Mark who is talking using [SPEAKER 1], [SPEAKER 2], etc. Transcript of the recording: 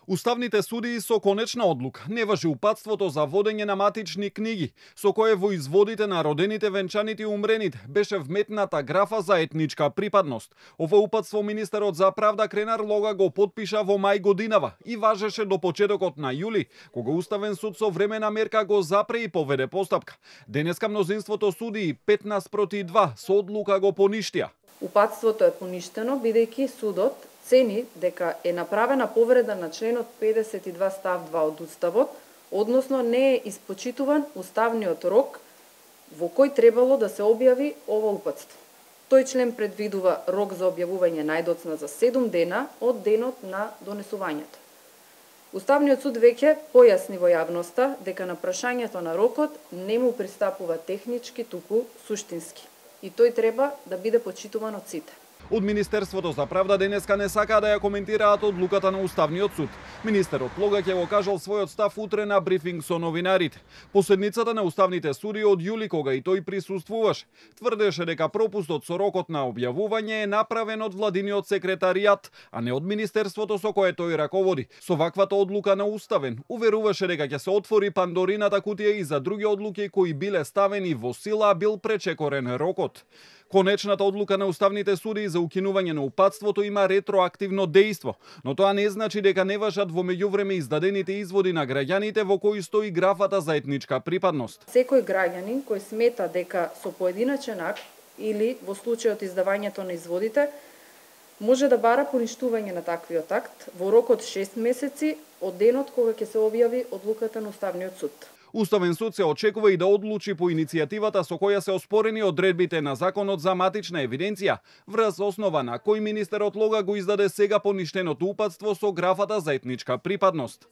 [SPEAKER 1] Уставните судии со конечна одлука не важи упатството за водење на матични книги, со кое во изводите на родените, венчаните и умрените беше вметната графа за етничка припадност. Ова упатство министерот за правда Кренар Лога го потпиша во мај годинава и важеше до почетокот на јули, кога Уставен суд со времена мерка го запре и поведе постапка. Денеска мнозинството судии 15-2 со одлука го поништија.
[SPEAKER 2] Упатството е поништено бидејќи судот цени дека е направена повреда на членот 52 став 2 од Уставот, односно не е испочитуван уставниот рок во кој требало да се објави ова упатство. Тој член предвидува рок за објавување најдоцна за 7 дена од денот на донесувањето. Уставниот суд веќе појасни во јавноста дека на прашањето на рокот не му пристапува технички, туку суштински. И тој треба да биде почитуван од сите.
[SPEAKER 1] Од Министерството за правда денеска не сакаа да ја коментираат одлуката на Уставниот суд. Министерот Лога ќе го кажал својот став утре на брифинг со новинарите. По седницата на уставните суди од јули, кога и тој присуствуваше, тврдеше дека пропустот со рокот на објавување е направен од владиниот секретаријат, а не од Министерството со кое тој раководи. Со ваквата одлука на Уставен, уверуваше дека ќе се отвори Пандорината кутија и за други одлуки кои биле ставени во сила, а бил пречекорен рокот. Конечната одлука на уставните суди за укинување на упатството има ретроактивно дејство, но тоа не значи дека не важат во меѓувреме издадените изводи на граѓаните во кои стои графата за етничка припадност.
[SPEAKER 2] Секој граѓанин кој смета дека со поединачен акт или во случајот издавањето на изводите може да бара поништување на таквиот акт во рок од 6 месеци од денот кога ќе се објави одлуката на Уставниот суд.
[SPEAKER 1] Уставен суд се очекува и да одлучи по иницијативата со која се оспорени одредбите на Законот за матична евиденција, врз основа на кој министерот Лога го издаде сега поништеното упатство со графата за етничка припадност.